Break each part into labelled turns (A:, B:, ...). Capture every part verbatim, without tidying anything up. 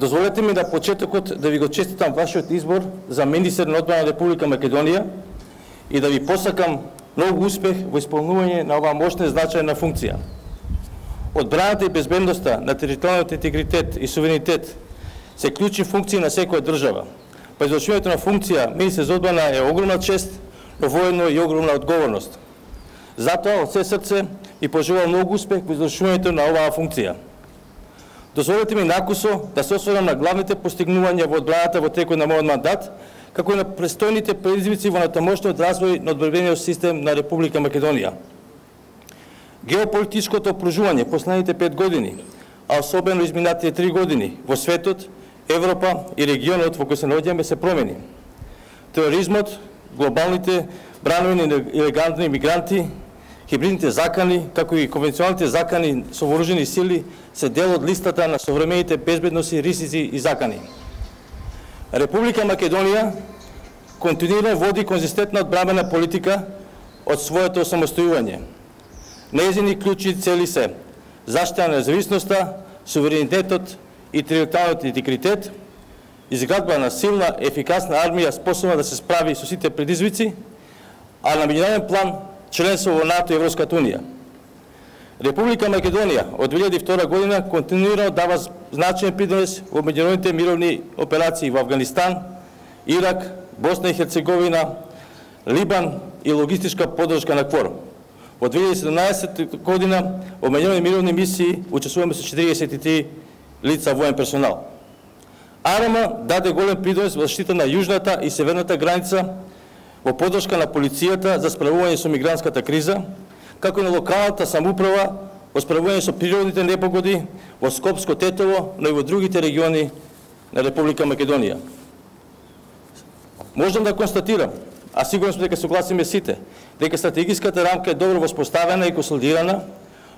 A: Дозволете ми на почетокот да ви го честитам вашиот избор за министер на одбрана на Република Македонија и да ви посакам многу успех во исполнување на оваа мощна и значајна функција. Одбраната и безбедноста на територијалниот интегритет и суверенитет се клучни функции на секоја држава. Па извршувањето на функција министер за одбрана е огромна чест, но воедно и огромна одговорност. Затоа од се срце ви пожелувам многу успех во извршувањето на оваа функција. Дозволете ми накусо да се осврнам на главните постигнувања во одбраната во текот на мојот мандат, како и на престојните предизвици во натамошниот развој на одбранбениот систем на Република Македонија. Геополитичкото окружување последните пет години, а особено изминатите три години во светот, Европа и регионот во кој се наоѓаме се промени. Тероризмот, глобалните бранови на илегални мигранти, хибридните закани, како и конвенционалните закани со вооружени сили се дел од листата на современите безбедносни ризици и закани. Република Македонија континуирано води конзистентна одбранбена политика од своето осамостојување. Нејзини клучни цели се заштита на независноста, суверенитетот и територијалниот интегритет, изградба на силна, ефикасна армија способна да се справи со сите предизвици, а на меѓународен план членство во НАТО и Европската унија. Република Македонија од две илјади и втора година континуирано дава значаен придонес во меѓународните мировни операции во Авганистан, Ирак, Босна и Херцеговина, Либан и логистичка поддршка на КФОР. Во две илјади и седумнаесетта година во меѓународни мировни мисии учествуваме со четириесет и три лица воен персонал. АРМА даде голем придонес во заштита на јужната и северната граница, во поддршка на полицијата за справување со мигрантската криза, како и на локалната самоуправа во справување со природните непогоди во Скопско Тетово, но и во другите региони на Република Македонија. Можам да констатирам, а сигурно сме дека согласиме сите, дека стратегиската рамка е добро воспоставена и консолидирана,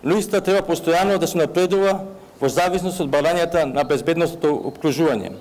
A: но иста треба постојано да се напредува во зависност од барањата на безбедностното опкружување.